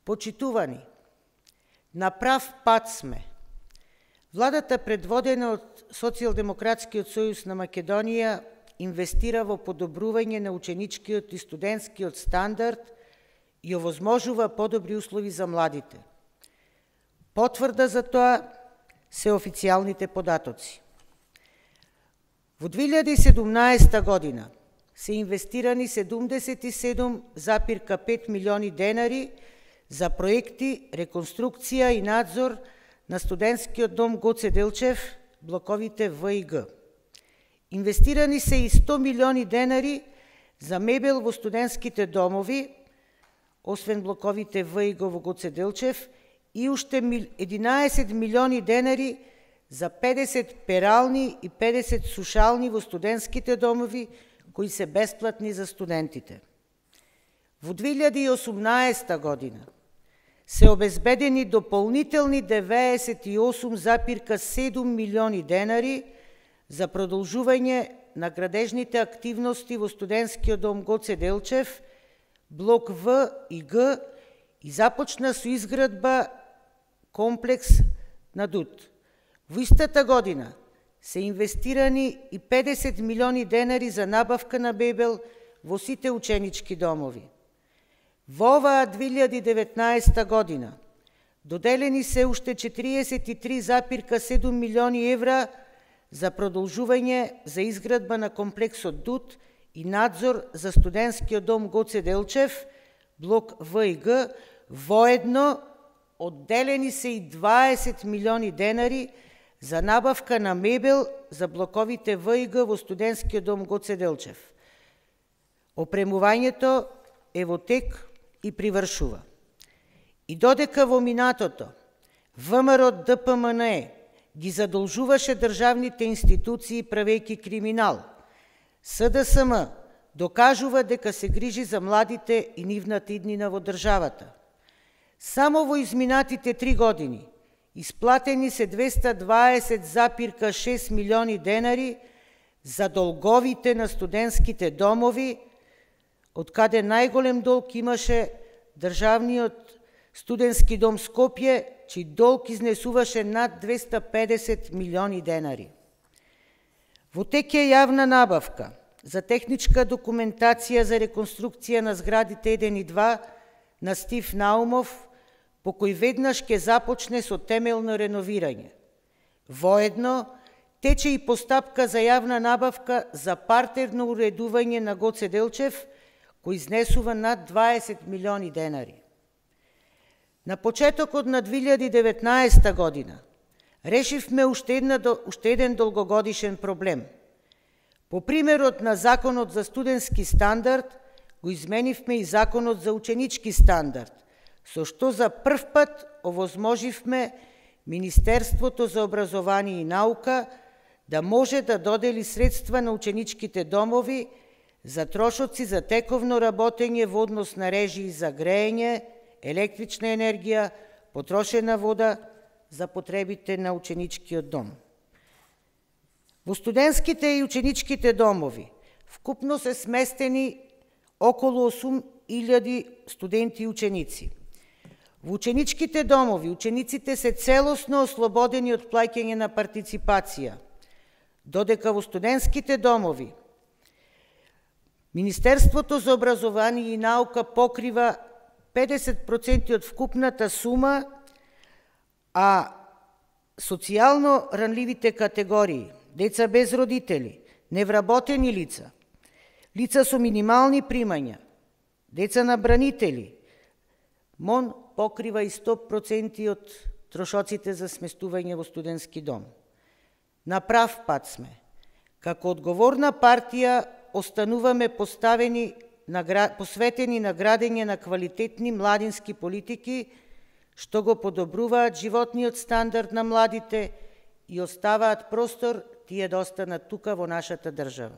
Почитувани, на прав пат сме. Владата, предводена од Социјалдемократскиот сојуз на Македонија, инвестира во подобрување на ученичкиот и студентскиот стандард и овозможува подобри услови за младите. Потврда за тоа се официјалните податоци. Во 2017 година се инвестирани 77,5 милиони денари за проекти, реконструкција и надзор на студентскиот дом Гоце Делчев, блоковите В и Г. Инвестирани се и 100 милиони денари за мебел во студентските домови, освен блоковите В и Г во Гоце Делчев, и уште 11 милиони денари за 50 перални и 50 сушални во студентските домови, кои се бесплатни за студентите. Во 2018 година се обезбедени дополнителни 98,7 милиони денари за продолжување на градежните активности во студентскиот дом Гоце Делчев, блок В и Г, и започна со изградба комплекс на ДУТ. Во истата година се инвестирани и 50 милиони денари за набавка на мебел во сите ученички домови. Во оваа 2019 година доделени се уште 43,7 милиони евра за продолжување за изградба на комплексот ДУТ и надзор за студентскиот дом Гоце Делчев, блок В и Г. Воедно одделени се и 20 милиони денари за набавка на мебел за блоковите В и Г во студентскиот дом Гоце Делчев. Опремувањето е во тек и привршува. И додека во минатото ВМРО ДПМНЕ ги задолжуваше државните институции правејќи криминал, СДСМ докажува дека се грижи за младите и нивната иднина во државата. Само во изминатите 3 години исплатени се 220,6 милиони денари за долговите на студентските домови, од каде најголем долг имаше државниот студентски дом Скопје, чиј долг изнесуваше над 250 милиони денари. Во тек е јавна набавка за техничка документација за реконструкција на зградите 1 и 2 на Стив Наумов, по кој веднаш ќе започне со темелно реновирање. Воедно, тече и постапка за јавна набавка за партерно уредување на Гоце Делчев, кој изнесува над 20 милиони денари. На почетокот на 2019 година решивме уште еден долгогодишен проблем. По примерот на Законот за студентски стандард, го изменивме и Законот за ученички стандард, со што за прв пат овозможивме Министерството за образование и наука да може да додели средства на ученичките домови за трошоци за тековно работење во однос на режии за грејење, електрична енергија, потрошена вода за потребите на ученичкиот дом. Во студентските и ученичките домови вкупно се сместени околу 8.000 студенти и ученици. Во ученичките домови учениците се целосно ослободени од плаќање на партиципација, додека во студентските домови Министерството за образование и наука покрива 50% од вкупната сума, а социјално ранливите категории, деца без родители, невработени лица, лица со минимални примања, деца на бранители, МОН покрива и 100% од трошоците за сместување во студентски дом. На прав пат сме. Како одговорна партија остануваме посветени на градење на квалитетни младински политики, што го подобруваат животниот стандард на младите и оставаат простор тие да останат тука во нашата држава.